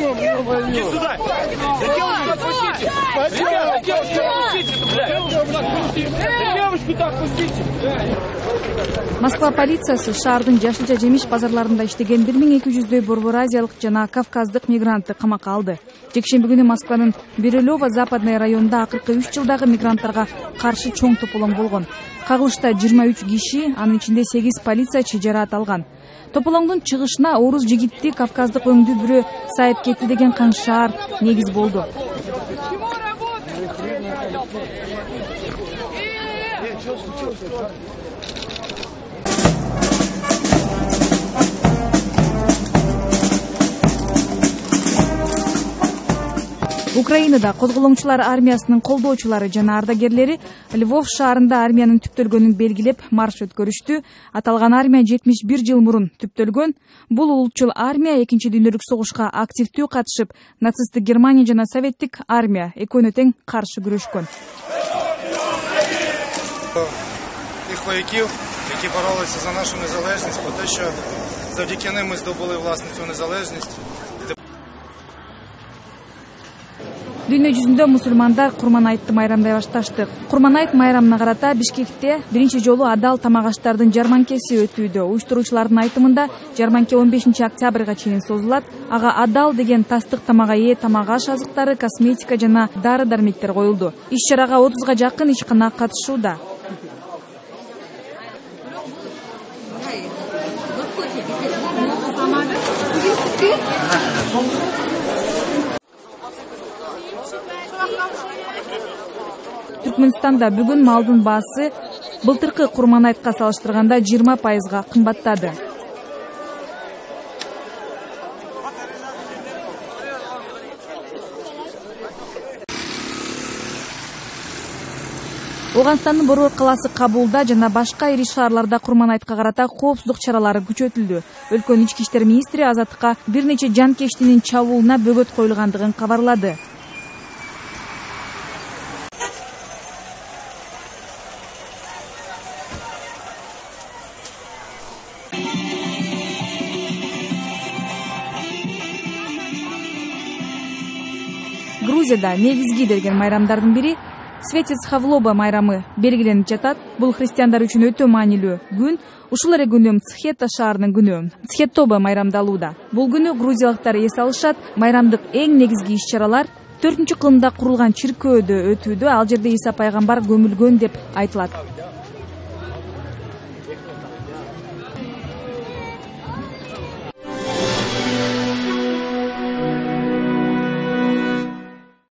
Иди сюда! Зачем вы так пустите? Девушку так пустите! Москва полициясы шаардын жашылча жемиш базарларында иштеген 1200дөй борбор азиялык жана кавказдык мигрантты камакка алды. Жекшемби күнү Москванын Бирюлево западный районунда акыркы 3 жылдагы мигранттарга каршы чоң тополоң болгон. Кагылышта 23 киши, анын ичинде 8 полициячы жараат алган. Тополоңдун чыгышына орус жигитти кавказдык өңдүү бирөө сайып кетти деген каңшаар негиз болду. Украинада козголоңчулар армиясынын колдоочулары жана ардагерлери Львов шаарында армиянын түптөлгөнүн белгилеп марш өткөрүштү. Аталган армия 71 жыл мурун түптөлгөн. Бул улутчул армия 2-дүйнөлүк согушка активдүү катышып, нацисттик Германия жана советтик армия экөөнө тең каршы күрөшкөн. Тих вояків, які боролися за нашу незалежність, про те, що завдяки ним ми здобули власну цю незалежність. Дүйнө жүзүндө мусулмандар Курманайтты майрамдай башташты. Курманайт майрамына карата Бишкекте биринчи жолу адал тамак аштардын жарманкеси өтүүдө. Уюштуруучулардын айтымында жарманке 15 октябрга чейин созулат. Ага адал деген тастык тамага ээ тамак аш азыктары, косметика жана дары-дармектер коюлду. Иш-чарага 30га жакын ишкана катышууда. Түркмөнстанда бүгүн малдын баасы былтыркы Курманайтка салыштырганда 20%га кымбаттады. Оганстандын борбор калаасы Кабулда жана башка ири шаарларда Курманайтка карата коопсуздук чаралары күчөтүлдү. Өлкөнүн ички иштер министри Азаттыкка бир нече жанкештинин чабуулуна бөгөт коюлгандыгын кабарлады. Грузияда негизги деген майрамдардын бири Светец Хавлоба майрамы белгиленип жатат. Бул христиандар үчүн өтө маанилүү күн. Ушул эле күнү Цхета шаарынын күнү. Цхетоба майрамдалууда. Бул күнү грузиялыктар эс алышат. Майрамдык эң негизги иш-чаралар 4-кылымда курулган чиркөөдө өтүүдө. Ал жерде Иса пайгамбар көмүлгөн деп айтылат.